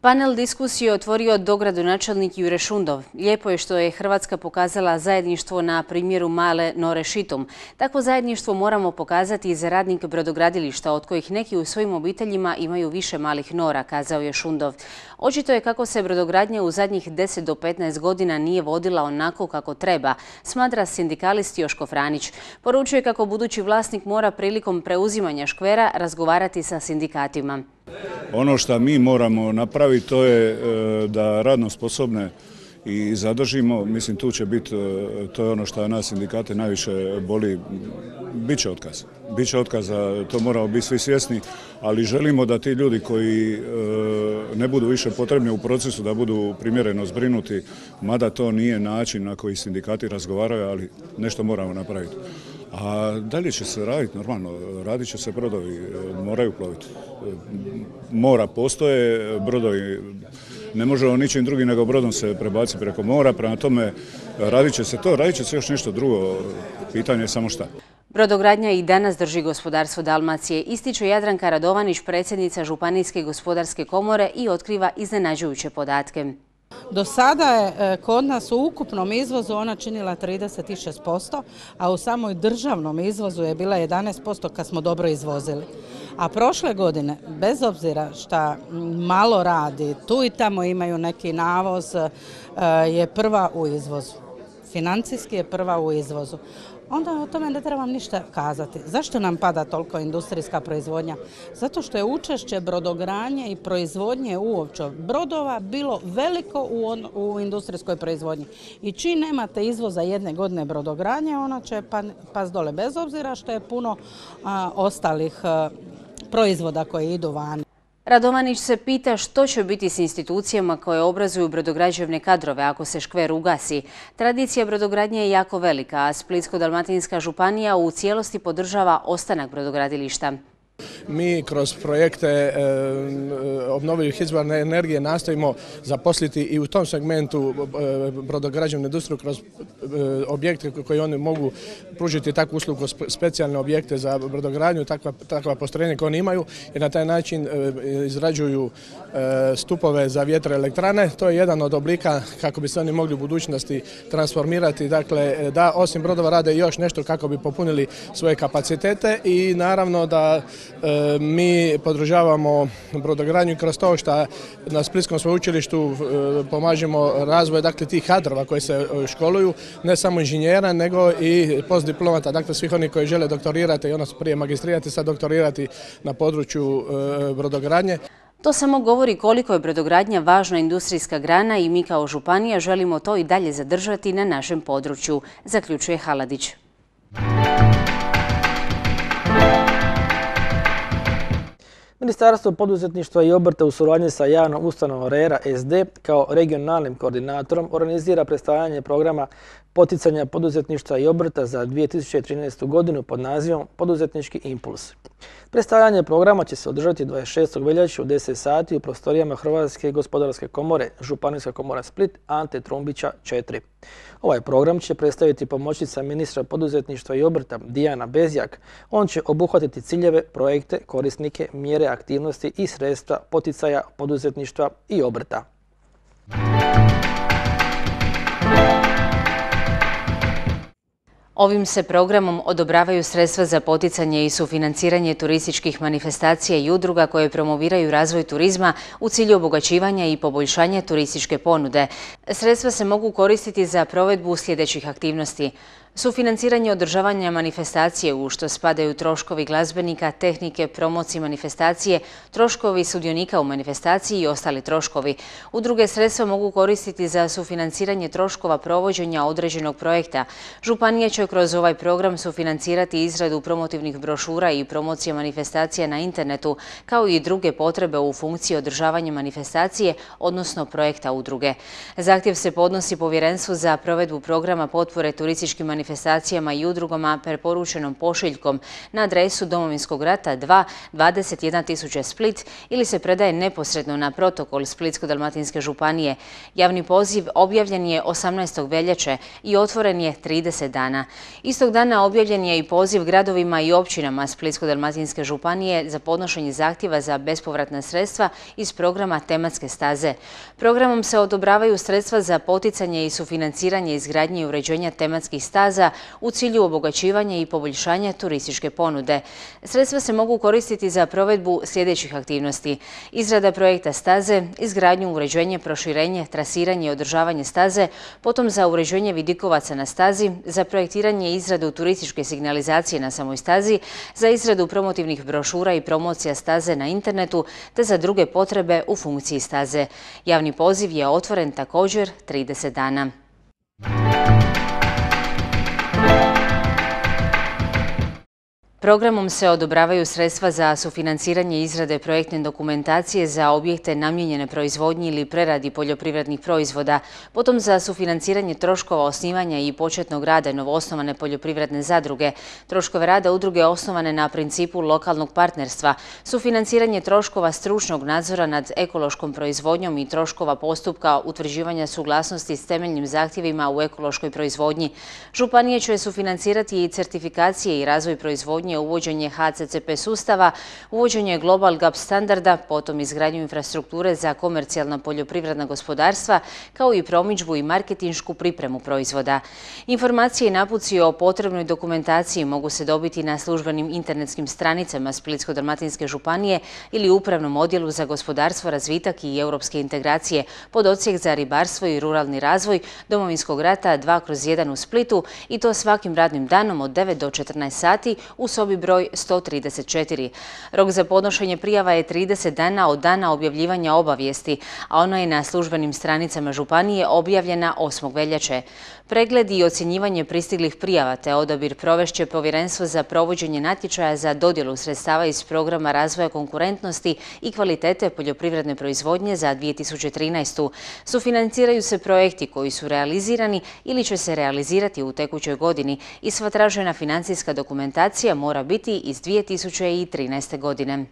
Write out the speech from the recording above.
Panel diskusije otvorio dogradonačelnik Jure Šundov. Lijepo je što je Hrvatska pokazala zajedništvo na primjeru male Nore Šitum. Takvo zajedništvo moramo pokazati i za radnike brodogradilišta, od kojih neki u svojim obiteljima imaju više malih nora, kazao je Šundov. Očito je kako se brodogradnja u zadnjih 10 do 15 godina nije vodila onako kako treba, smatra sindikalist Joško Franić. Poručuje kako budući vlasnik mora prilikom preuzimanja škvera razgovarati sa sindikatima. Ono što mi moramo napraviti to je da radno sposobne i zadržimo. Mislim, tu će biti, to je ono što nas sindikate najviše boli, bit će otkaz. Biće otkaza, to moramo biti svi svjesni, ali želimo da ti ljudi koji ne budu više potrebni u procesu da budu primjereno zbrinuti, mada to nije način na koji sindikati razgovaraju, ali nešto moramo napraviti. A dalje će se raditi normalno, radit će se brodovi, moraju ploviti. Mora postoje, brodovi, ne možemo ničim drugim nego brodom se prebaciti preko mora, prema tome radit će se to, radit će se još nešto drugo, pitanje je samo šta. Brodogradnja i danas drži gospodarstvo Dalmacije, ističe Jadranka Radovanić, predsjednica Županijske gospodarske komore, i otkriva iznenađujuće podatke. Do sada je kod nas u ukupnom izvozu ona činila 36%, a u samoj državnom izvozu je bila 11% kad smo dobro izvozili. A prošle godine, bez obzira što malo radi, tu i tamo imaju neki navoz, je prva u izvozu. Financijski je prva u izvozu. Onda o tome ne trebam ništa kazati. Zašto nam pada toliko industrijska proizvodnja? Zato što je učešće brodogradnje i proizvodnje uopće brodova bilo veliko u industrijskoj proizvodnji. I čim nemate izvoza jedne godine brodogradnje, ona će pas dole, bez obzira što je puno ostalih proizvoda koji idu van. Radovanić se pita što će biti s institucijama koje obrazuju brodograđevne kadrove ako se škver ugasi. Tradicija brodogradnje je jako velika, a Splitsko-dalmatinska županija u cijelosti podržava ostanak brodogradilišta. Mi kroz projekte obnovljivih izvora energije nastojimo zaposliti i u tom segmentu brodograđevnu industriju kroz objekte koji oni mogu pružiti takvu uslugu, specijalne objekte za brodogradnju, takva postrojenja koje oni imaju, i na taj način izrađuju stupove za vjetroelektrane. To je jedan od oblika kako bi se oni mogli u budućnosti transformirati, dakle da osim brodova rade još nešto kako bi popunili svoje kapacitete, i naravno da mi podržavamo brodogradnju kroz to što na Splitskom sveučilištu pomažemo razvoj tih kadrova koji se školuju, ne samo inženjera nego i postdiplomata, dakle svih onih koji žele doktorirati i ono prije magistrirati, sad doktorirati na području brodogradnje. To samo govori koliko je brodogradnja važna industrijska grana i mi kao županija želimo to i dalje zadržati na našem području, zaključuje Haladić. Ministarstvo poduzetništva i obrta u suradnji sa javnom ustanovom RERA SD kao regionalnim koordinatorom organizira predstavljanje programa poticanja poduzetništva i obrta za 2013. godinu pod nazivom Poduzetnički impuls. Predstavljanje programa će se održati 26. veljače u 10 sati u prostorijama Hrvatske gospodarske komore, Županijska komora Split, Ante Trumbića 4. Ovaj program će predstaviti pomoćnica ministra poduzetništva i obrta Dijana Bezjak. On će obuhvatiti ciljeve, projekte, korisnike, mjere, aktivnosti i sredstva poticaja poduzetništva i obrta. Ovim se programom odobravaju sredstva za poticanje i sufinanciranje turističkih manifestacija i udruga koje promoviraju razvoj turizma u cilju obogaćivanja i poboljšanja turističke ponude. Sredstva se mogu koristiti za provedbu sljedećih aktivnosti: sufinanciranje održavanja manifestacije, u što spadaju troškovi glazbenika, tehnike, promocije manifestacije, troškovi sudionika u manifestaciji i ostali troškovi. Udruge sredstva mogu koristiti za sufinanciranje troškova provođenja određenog projekta. Županija će kroz ovaj program sufinancirati izradu promotivnih brošura i promocije manifestacija na internetu, kao i druge potrebe u funkciji održavanja manifestacije, odnosno projekta udruge. Zahtjev se podnosi Povjerenstvu za provedbu programa potpore turističkim manifestacijama manifestacijama i udrugama preporučenom pošiljkom na adresu Domovinskog rata 2 21 000 Split ili se predaje neposredno na protokol Splitsko-dalmatinske županije. Javni poziv objavljen je 18. veljače i otvoren je 30 dana. Istog dana objavljen je i poziv gradovima i općinama Splitsko-dalmatinske županije za podnošenje zahtjeva za bespovratna sredstva iz programa tematske staze. Programom se odobravaju sredstva za poticanje i sufinanciranje izgradnje i uređenja tematskih staza u cilju obogaćivanja i poboljšanja turističke ponude. Sredstva se mogu koristiti za provedbu sljedećih aktivnosti: izrada projekta staze, izgradnju, uređenje, proširenje, trasiranje i održavanje staze, potom za uređenje vidikovaca na stazi, za projektiranje i izradu turističke signalizacije na samoj stazi, za izradu promotivnih brošura i promocija staze na internetu, te za druge potrebe u funkciji staze. Javni poziv je otvoren također 30 dana. Programom se odobravaju sredstva za sufinanciranje izrade projektne dokumentacije za objekte namijenjene proizvodnji ili preradi poljoprivrednih proizvoda, potom za sufinanciranje troškova osnivanja i početnog rada novoosnovane poljoprivredne zadruge, troškove rada udruge osnovane na principu lokalnog partnerstva, sufinanciranje troškova stručnog nadzora nad ekološkom proizvodnjom i troškova postupka utvrđivanja suglasnosti s temeljnim zahtjevima u ekološkoj proizvodnji. Županije će sufinancirati i certifikacije i razvoj proizvodnje, uvođenje HCCP sustava, uvođenje Global GAP standarda, potom izgradnju infrastrukture za komercijalna poljoprivredna gospodarstva, kao i promidžbu i marketinšku pripremu proizvoda. Informacije i napuci o potrebnoj dokumentaciji mogu se dobiti na službenim internetskim stranicama Splitsko-dalmatinske županije ili Upravnom odjelu za gospodarstvo, razvitak i europske integracije pod odsjek za ribarstvo i ruralni razvoj Domovinskog rata 2/1 u Splitu, i to svakim radnim danom od 9 do 14 sati u sobi broj 134. Rok za podnošenje prijava je 30 dana od dana objavljivanja obavijesti, a ona je na službenim stranicama županije objavljena 8. veljače. Pregled i ocjenjivanje pristiglih prijava te odabir provešće Povjerenstvo za provođenje natječaja za dodjelu sredstava iz programa razvoja konkurentnosti i kvalitete poljoprivredne proizvodnje za 2013. Sufinanciraju se projekti koji su realizirani ili će se realizirati u tekućoj godini i sva tražena financijska dokumentacija mora biti iz 2013. godine.